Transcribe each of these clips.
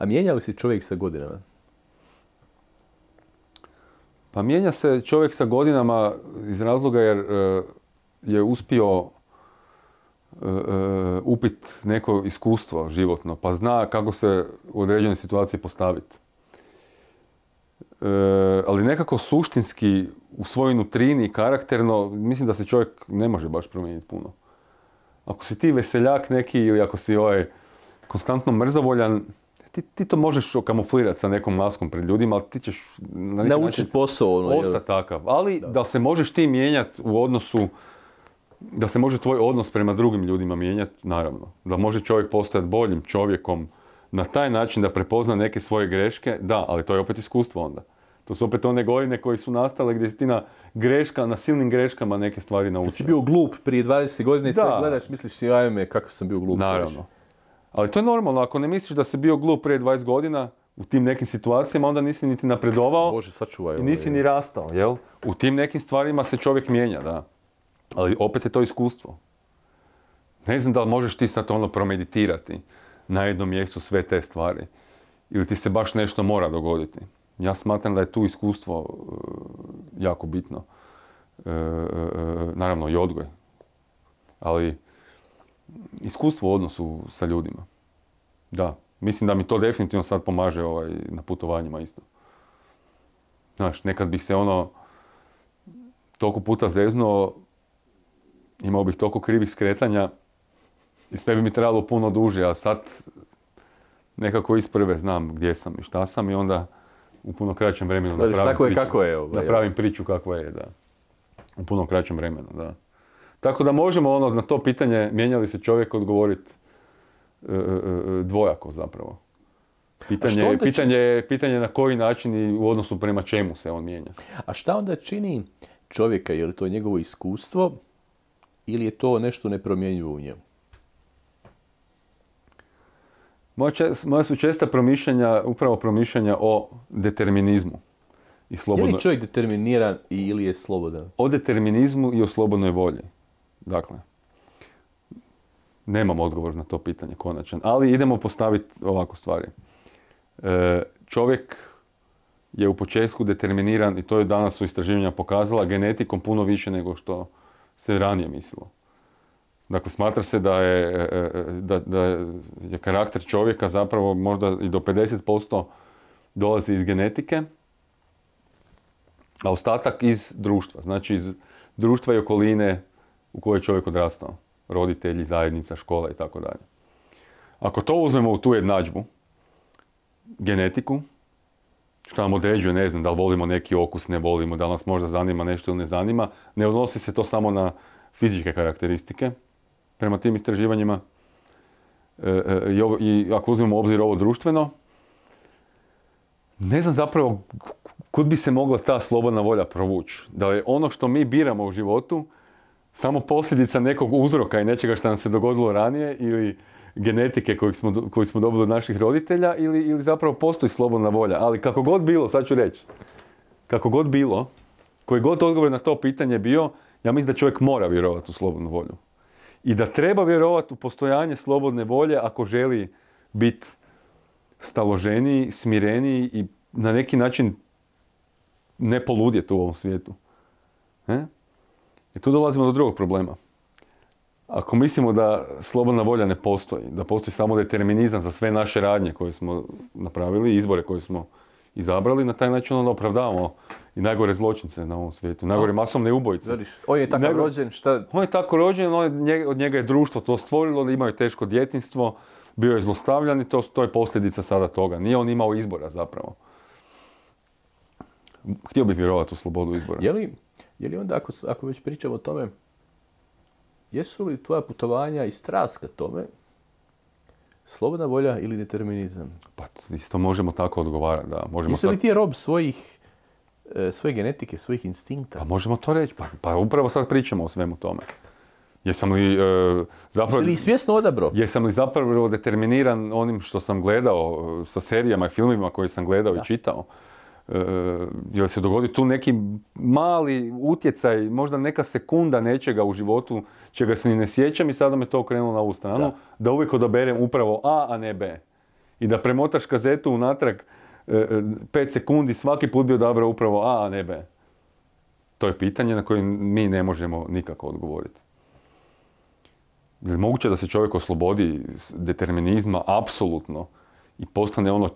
A mijenja li se čovjek sa godinama? Pa mijenja se čovjek sa godinama iz razloga jer je uspio upit neko iskustvo životno, pa zna kako se u određenoj situaciji postaviti. Ali nekako suštinski u svojoj nutrini, karakterno, mislim da se čovjek ne može baš promijeniti puno. Ako si ti veseljak neki ili ako si konstantno mrzovoljan, ti to možeš kamuflirati sa nekom maskom pred ljudima, ali ti ćeš naučiti posao. Ostati takav. Ali da se možeš ti mijenjati u odnosu, da se može tvoj odnos prema drugim ljudima mijenjati, naravno. Da može čovjek postati boljim čovjekom na taj način da prepozna neke svoje greške, da, ali to je opet iskustvo onda. To su opet one godine koje su nastale gdje si ti na silnim greškama neke stvari naučio. Kad si bio glup prije 20 godina i sad gledaš, misliš si, ajme, kako sam bio glup. Naravno. Ali to je normalno, ako ne misliš da si bio glup prije 20 godina u tim nekim situacijama, onda nisi niti napredovao. Bože, sačuvaj. I nisi ni rastao, jel? U tim nekim stvarima se čovjek mijenja, da. Ali opet je to iskustvo. Ne znam da li možeš ti sad promeditirati na jednom mjestu sve te stvari. Ili ti se baš nešto mora dogoditi. Ja smatram da je tu iskustvo jako bitno. Naravno i odgoj. Ali iskustvo u odnosu sa ljudima. Da. Mislim da mi to definitivno sad pomaže na putovanjima isto. Znaš, nekad bih se toliko puta zeznuo, imao bih toliko krivih skretanja i sve bi mi trebalo puno duže, a sad nekako iz prve znam gdje sam i šta sam i onda u puno kraćem vremenu napravim priču kakva je, da. U puno kraćem vremenu, da. Tako da možemo na to pitanje, mijenja li se čovjek, odgovoriti dvojako zapravo. Pitanje na koji način i u odnosu prema čemu se on mijenja. A šta onda čini čovjeka? Je li to njegovo iskustvo ili je to nešto nepromjenjivo u njemu? Moja su česta upravo promišljanja o determinizmu. Je li čovjek determiniran ili je slobodan? O determinizmu i o slobodnoj volji. Dakle, nemam odgovor na to pitanje konačan, ali idemo postaviti ovako stvari. Čovjek je u početku determiniran, i to je danas u istraživanjima pokazala, genetikom puno više nego što se ranije mislilo. Dakle, smatra se da je karakter čovjeka zapravo možda i do 50% dolazi iz genetike, a ostatak iz društva. Znači iz društva i okoline u kojoj je čovjek odrastao. Roditelji, zajednica, škola i tako dalje. Ako to uzmemo u tu jednadžbu, genetiku, što nam određuje, ne znam, da li volimo neki okus, ne volimo, da li nas možda zanima nešto ili ne zanima, ne odnosi se to samo na fizičke karakteristike prema tim istraživanjima. I ako uzmemo u obzir ovo društveno, ne znam zapravo kud bi se mogla ta slobodna volja provući. Da je ono što mi biramo u životu samo posljedica nekog uzroka i nečega što nam se dogodilo ranije ili genetike koju smo dobili od naših roditelja ili zapravo postoji slobodna volja. Ali kako god bilo, sad ću reći, kako god bilo, koji god odgovor na to pitanje bio, ja mislim da čovjek mora vjerovati u slobodnu volju. I da treba vjerovati u postojanje slobodne volje ako želi biti staloženiji, smireniji i na neki način ne poludjeti u ovom svijetu. I tu dolazimo do drugog problema. Ako mislimo da slobodna volja ne postoji, da postoji samo determinizam za sve naše radnje koje smo napravili, izbore koje smo izabrali, na taj način onda opravdavamo i najgore zločince na ovom svijetu, najgore masovne ubojice. On je tako rođen, šta? On je tako rođen, od njega je društvo to stvorilo, imao je teško djetinjstvo, bio je zlostavljan i to je posljedica sada toga. Nije on imao izbora zapravo. Htio bih vjerovati u slobodu izbora. Je li onda, ako već pričamo o tome, jesu li tvoja putovanja i strast ka tome slobodna volja ili determinizam? Pa isto možemo tako odgovarati, da. Jesi li ti rob svoje genetike, svojih instinkta? Pa možemo to reći, pa upravo sad pričamo o svemu tome. Jesam li zapravo... Jesi li svjesno odabrao? Jesam li zapravo determiniran onim što sam gledao sa serijama i filmima koje sam gledao i čitao? Jel se dogodi tu neki mali utjecaj, možda neka sekunda nečega u životu, čega se ni ne sjećam i sada me to okrenulo na ovu stranu, da uvijek odaberem upravo A ne B. i da premotaš kazetu unatrag 5 sekundi, svaki put bi odabrao upravo A, a ne B? To je pitanje na koje mi ne možemo nikako odgovoriti. Je li moguće da se čovjek oslobodi determinizma apsolutno i postane ono,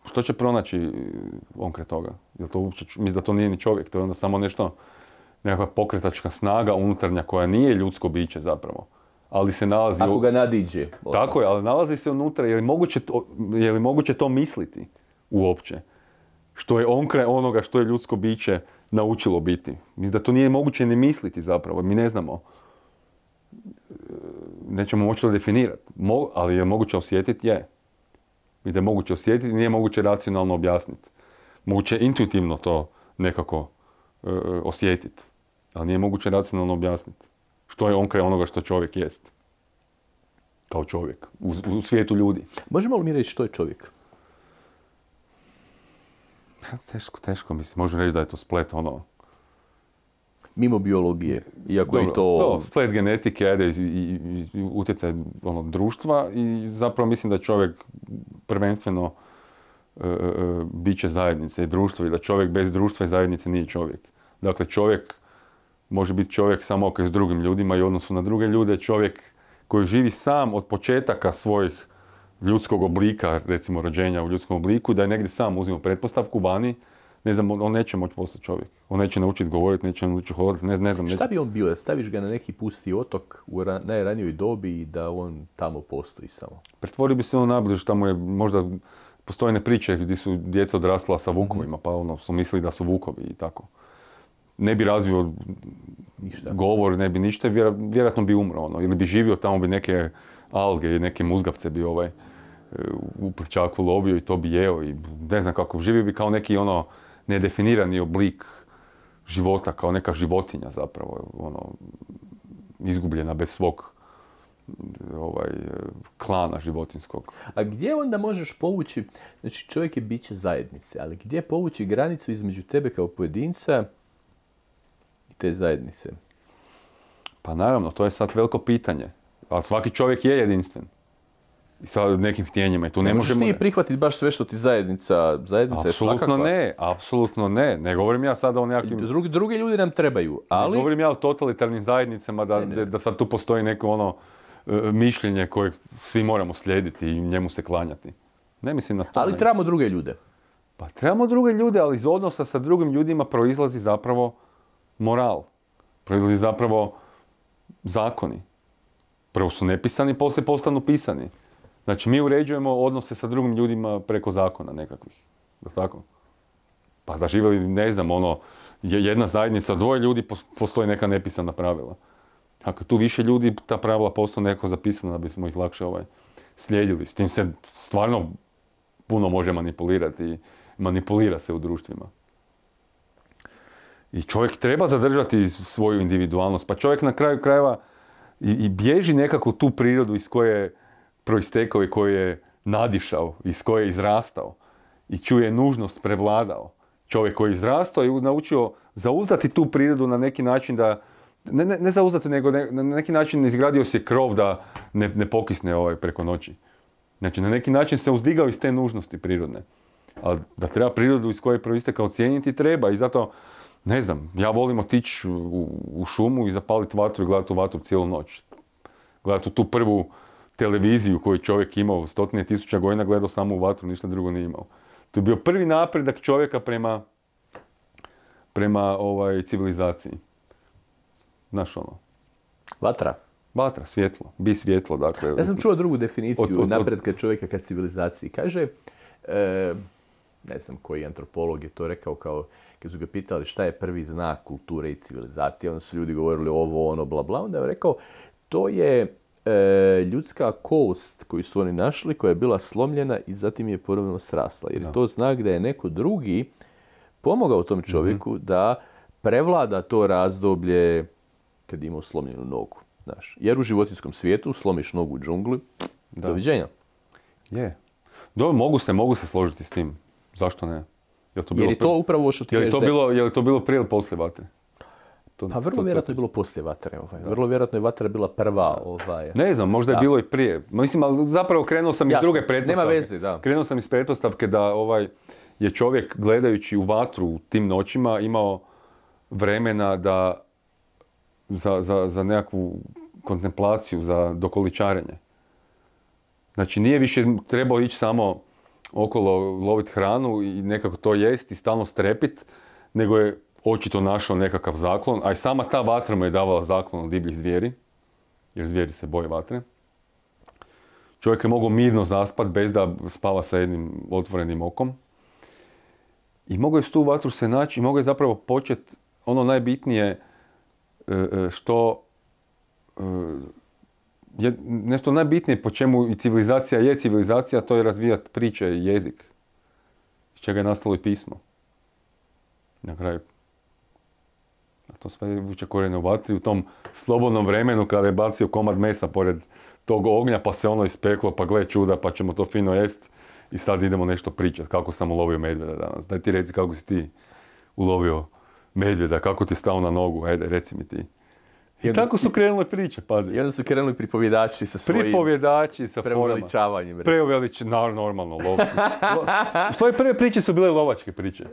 što će pronaći on kraj toga? Mislim da to nije ni čovjek, to je onda samo nešto, nekakva pokretačka snaga unutarnja koja nije ljudsko biće zapravo. Ali se nalazi... Ako ga nadiđe. Tako je, ali nalazi se unutra. Je li moguće to misliti uopće? Što je on kraj onoga što je ljudsko biće naučilo biti. Mislim da to nije moguće ni misliti zapravo. Mi ne znamo. Nećemo moći to definirati. Ali je moguće osjetiti? Je. I da je moguće osjetiti, nije moguće racionalno objasniti. Moguće je intuitivno to nekako osjetiti. Ali nije moguće racionalno objasniti. Što je on kraj onoga što čovjek jest. Kao čovjek. U svijetu ljudi. Možemo li mi reći što je čovjek? Teško mislim. Možemo reći da je to splet ono... Mimo biologije. Iako je to... Splet genetike, ajde, i utjecaj društva i zapravo mislim da je čovjek prvenstveno biće zajednice i društvo i da čovjek bez društva i zajednice nije čovjek. Dakle, čovjek može biti čovjek samo ako je s drugim ljudima i u odnosu na druge ljude. Čovjek koji živi sam od početaka svojih ljudskog oblika, recimo rođenja u ljudskom obliku, da je negdje sam uzimo pretpostavku vani, ne znam, on neće moći postati čovjek. On neće naučiti govoriti, neće naučiti hodati, ne znam. Šta bi on bio? Staviš ga na neki pusti otok u najranijoj dobi i da on tamo postoji samo? Pretvorio bi se on najbliže, tamo je možda postojne priče gdje su djeca odrasla sa vukovima, pa su mislili da su vukovi i tako. Ne bi razvio ništa. Govor, ne bi ništa, vjerojatno bi umro, ili bi živio tamo, bi neke alge i neke muzgavce bi u prčaku lovio i to bi jeo i ne znam kako, živio bi kao neki nedefinirani oblik života, kao neka životinja zapravo, izgubljena bez svog klana životinskog. A gdje onda možeš povući, znači čovjek je biće zajednice, ali gdje povući granicu između tebe kao pojedinca i te zajednice? Pa naravno, to je sad veliko pitanje. Ali svaki čovjek je jedinstven. I sa nekim htjenjima. I tu ne možemo... Možeš ti prihvatiti baš sve što ti zajednica je svakakva? Apsolutno ne. Ne govorim ja sada o nekakvim... Drugi ljudi nam trebaju, ali... Ne govorim ja o totalitarnim zajednicama da sad tu postoji neko mišljenje koje svi moramo slijediti i njemu se klanjati. Ne mislim na to. Ali trebamo druge ljude. Pa trebamo druge ljude, ali iz odnosa sa drugim ljudima proizlazi zapravo moral. Proizlazi zapravo zakoni. Prvo su nepisani, poslije postanu pisani. Znači, mi uređujemo odnose sa drugim ljudima preko zakona nekakvih. Je tako? Pa da živjeli, ne znam, jedna zajednica, dvoje ljudi, postoji neka nepisana pravila. Ako tu više ljudi, ta pravila postaju neko zapisana da bismo ih lakše slijedili. S tim se stvarno puno može manipulirati i manipulira se u društvima. I čovjek treba zadržati svoju individualnost. Pa čovjek na kraju krajeva i bježi nekako tu prirodu iz koje je proistekao i koju je nadišao, iz koje je izrastao. I čuje je nužnost prevladao. Čovjek koji je izrastao i naučio zauzdati tu prirodu na neki način da, ne zauzdati, nego na neki način izgradio se krov da ne pokisne preko noći. Znači, na neki način se uzdigao iz te nužnosti prirodne. Ali da treba prirodu iz koje je proistekao cijeniti, treba. I zato, ne znam, ja volim otići u šumu i zapaliti vatru i gledati tu vatru cijelu noć. Gledati tu prvu televiziju koju čovjek imao 100.000 godina, gledao samo u vatru, ništa drugo nije imao. To je bio prvi napredak čovjeka prema civilizaciji. Znaš Vatra, svjetlo. Bi svjetlo, dakle. Ja sam čuo drugu definiciju napretka čovjeka ka civilizaciji. Kaže, ne znam koji antropolog je to rekao, kao kad su ga pitali šta je prvi znak kulture i civilizacije, onda su ljudi govorili ovo, bla, bla. Onda je rekao, to je ljudska kost koju su oni našli, koja je bila slomljena i zatim je ponovno srasla. Jer je to znak da je neko drugi pomogao tom čovjeku da prevlada to razdoblje kad je imao slomljenu nogu. Znaš. Jer u životinjskom svijetu slomiš nogu u džungli, doviđenja. Je. Mogu se složiti s tim. Zašto ne? Jer je to upravo što ti kažeš. Je li to bilo prije ili poslije vatre? Pa vrlo vjerojatno je bilo poslije vatre. Vrlo vjerojatno je vatra bila prva. Ne znam, možda je bilo i prije. Mislim, ali zapravo krenuo sam iz druge pretpostavke. Nema veze, da. Krenuo sam iz pretpostavke da je čovjek gledajući u vatru u tim noćima imao vremena da za nekakvu kontemplaciju, za dokoličarenje. Znači, nije više trebao ići samo okolo loviti hranu i nekako to jest i stalno strepit, nego je očito našao nekakav zaklon, a i sama ta vatra mu je davala zaklon od divljih zvijeri, jer zvijeri se boje vatre. Čovjek je mogao mirno zaspat bez da spava sa jednim otvorenim okom. I mogao je s tu vatru se naći i mogao je zapravo početi ono najbitnije što je nešto najbitnije po čemu i civilizacija je civilizacija, to je razvijati priče i jezik. Iz čega je nastalo i pismo. Na kraju. A to sve vuče korijene u vatri u tom slobodnom vremenu kada je bacio komad mesa pored tog ognja pa se ono ispeklo, pa gle čuda, pa ćemo to fino jest i sad idemo nešto pričati kako sam ulovio medvjeda danas. Daj ti reci kako si ti ulovio medvjeda, kako ti stao na nogu, ajde reci mi ti. I tako su krenule priče, pazi. I onda su krenuli pripovjedači sa svojim... Pripovjedači sa preuveličavanjem. Normalno, lovci. Svoje prve priče su bile lovačke priče.